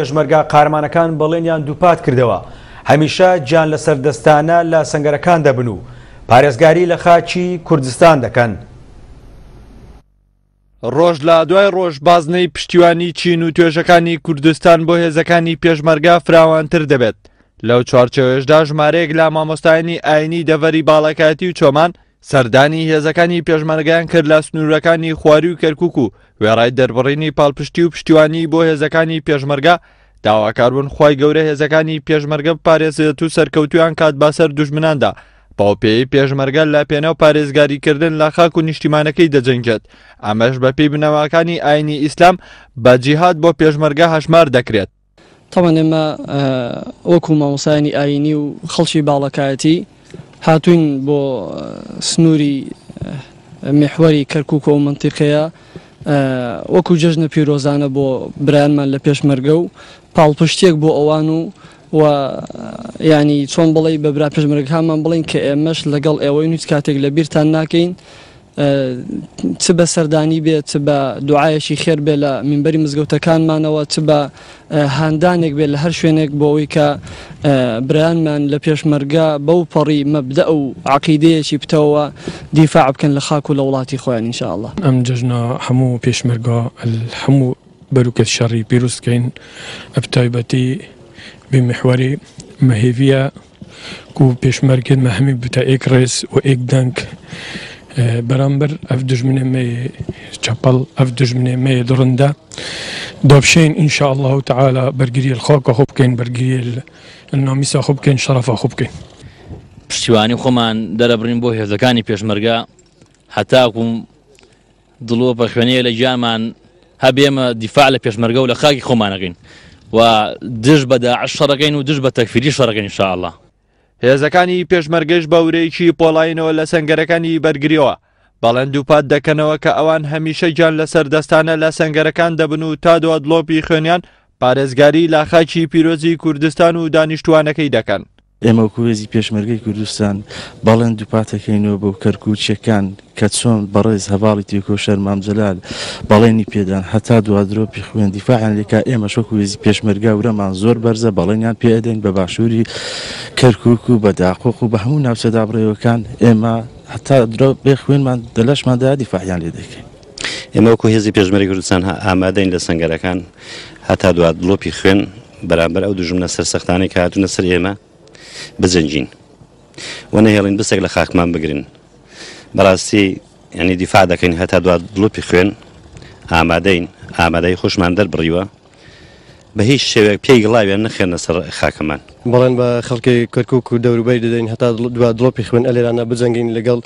پێشمەرگە قارەمانەکان بەڵێنیان دووپات کردەوە هەمیشە گیان لەسەر دەستانە لە سەنگەرەکان دەبن و پارێزگاری لە خاکی کوردستان دەکەن. ڕۆژ لە دوای ڕۆژ بازنەی پشتیوانی چین و توێژەکانی کوردستان بۆ هێزەکانی پێشمەرگە فراوانتر دەبێت. لەو چوارچێوەیەشدا ژمارەیەک لە مامۆستایانی ئاینی دەڤەری باڵەکایەتی و چۆمان سەردانی هێزەکانی پێشمەرگەیان کرد لە سنوورەکانی خواروی و کەرکوک و وێڕای دەربڕینی پاڵپشتی و پشتیوانی بۆ هێزەکانی پێشمەرگە داواکاربوون خوای گەورە هێزەکانی پێشمەرگە بپارێزێت و سەرکەوتویان کات بەسەر دوژمناندا بەوپێیەی پێشمەرگە لە پێناو پارێزگاریکردن لە خاک و نیشتیمانەکەی دەجەنگێت ئەمەش بەپێی بنەماکانی ئاینی ئیسلام بە جیهاد بۆ پێشمەرگە هەژمار دەکرێت. تەبعەن ئێمە وەکو مامۆستایانی ئایینی و خەڵکی باڵەکایەتی هاتووین بۆ سنووری میحوەری کەرکووک و ئەو مەنتیقەیە وەکو جەژنە پیرۆزانە بۆ برایانمان لە پێشمەرگە و پاڵپشتیەک بۆ ئەوان و و یانی چۆن بڵێی بە برا پێشمەرگەکانمان بڵێین کە ئێمەش لەگەڵ ئێوەین هیچ کاتێک لە بیرتان ناکەین چ بە سەردانی بێت، چ بە دوعایەکی خێر بێت لە مینبەری مزگەوتەکانمانەوە، چ بە هاندانێک بێت لە هەر شوێنێک بۆ ئەوەی کە برایانمان لە پێشمەرگە بەو پەڕی مەبدەئ و عەقیدەیەکی پتەوەوە دیفاع بکەن لە خاک و لە وڵاتی خۆیان ان شاء اللە. ئەم جەژنە هەموو پێشمەرگە هەموو بەروکەت شەڕی پیروز دکەین بتایبەتی بی میحوەری مە هێڤیە کو پێشمەرگێن مە هەمی بتە ئێک ڕێز و ئێک دەنگ بەرامبەر ئەف دژمنێ مە چەپەڵ ئەف دژمنێ مە دڕندە دابشین ان شاء الله تعالی بەرگری الخاکە خۆ بکەین بەرگری النامیسا خۆ بکەین شەرەفا خۆ بکەین. پشتیوانی خۆمان دەرەبڕین بۆ هێزەکانی پێشمەرگە هەتاکو دڵۆپە خوێنەیە لە گیانمان هەبێ ئێمە دیفاع لە پێشمەرگە و لە خاکی خۆمان ئەکەین و دژ بە داعش شەڕەکەین و دژ بە تەکفیری شەڕەکەین ان شاء اللە. هێزەکانی پێشمەرگەش بە ورەیەکی پۆڵایینەوە لە سەنگەرەکانی بەرگرییەوە بەڵێن دووپات دەکەنەوە کە ئەوان هەمیشە گیان لەسەر دەستانە لە سەنگەرەکان دەبن و تا دوا دڵۆپی خوێنیان پارێزگاری لە خاکی پیرۆزی کوردستان و دانیشتووانەکەی دەکەن. ئێمە وەکو هێزی پێشمەرگەی کوردستان بەڵێن دووپاتەکەینەوە بۆ کەرکوکیەکان کە چۆن بەڕێز هەڤاڵی تێکۆشەر مام جەلال بەڵێنی پێدان هەتا دوا درۆپی خوێن دیفاعیان لێکا ئێمەش وەکو هێزی پێشمەرگە ورەمان زۆر بەرزە بەڵێنیان پێ ئەدەین بە باشووری کەرکوک و بە داقوق و بە هەموو ناوچە دابڕێوەکان ئێمە هەتا درۆپێ خوێنمان دە لەشماندا دیفاعیان لێ دەکەین. ئێمە وەکو هێزی پێشمەرگەی کوردستان ئامادەین لە سەنگەرەکان هەتا دوا دڵۆپی خوێن بەرامبەر ئەو دوژمنە سەرسەختانەی کە هاتوونە سەر ئێمە بجەنگین و نەهێڵین بسێک لە خاکمان بگرن. بەڕاستی یعنی دیفاع دەکەین هەتا دوا دڵۆپی خوێن ئامادەین، ئامادەی خۆشمان دەربڕیوە بە هیچ شێوەیەک پێی گڵاویان نەخێنە سەر خاکەمان. بەڵێن بە خەڵکی کەرکوک و دەوروبەری دەدەین هەتا دوا دڵۆپی خوێن ئەلێرانە بجەنگین لەگەڵ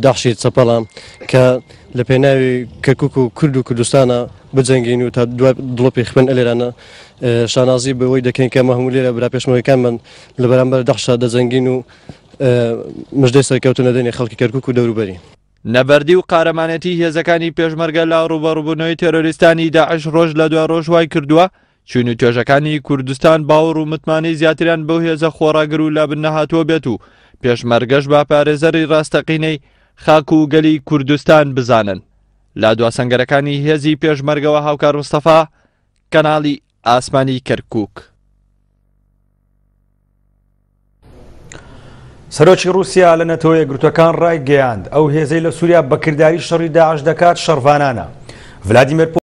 داعشی چەپەڵە کە لە پێناوی کەرکوک و کورد و کوردستانە بجەنگین و تا دوا دڵۆپی خوێن ئەلێرانە شانازی بەوەی دەکەین کە ئەمە هەموو لێرە برا پێشمەرگەکانمان لە بەرامبەر داعشا دەجەنگین و مژدەی سەرکەوتن دەدەینە خەڵکی کەرکوک و دەوروبەری. نەبەردی و قارەمانێتی هێزەکانی پێشمەرگە لە ڕووبەڕووبوونەوەی تێرۆریستانی داعش ڕۆژ لە دوای ڕۆژ وای کردووە چین و توێژەکانی کوردستان باوەڕ و متمانەی زیاتریان بەو هێزە خۆڕاگر و لەبن نەهاتووە بێت و پێشمەرگەش بە پارێزەری ڕاستەقینەی خاک و گەلی کوردستان بزانن. لە دوا سەنگەرەکانی هێزی پێشمەرگەوە هاوکار مستەفا، کەناڵی ئاسمانی کەرکوک. سەرۆکی ڕووسیا لە نەتەوە یەکگرتووەکان ڕایگەیاند، ئەو هێزەی لە سووریا بەکرداری شەڕی داعش دەکات شەڕڤانانە. ڤلادیمێر.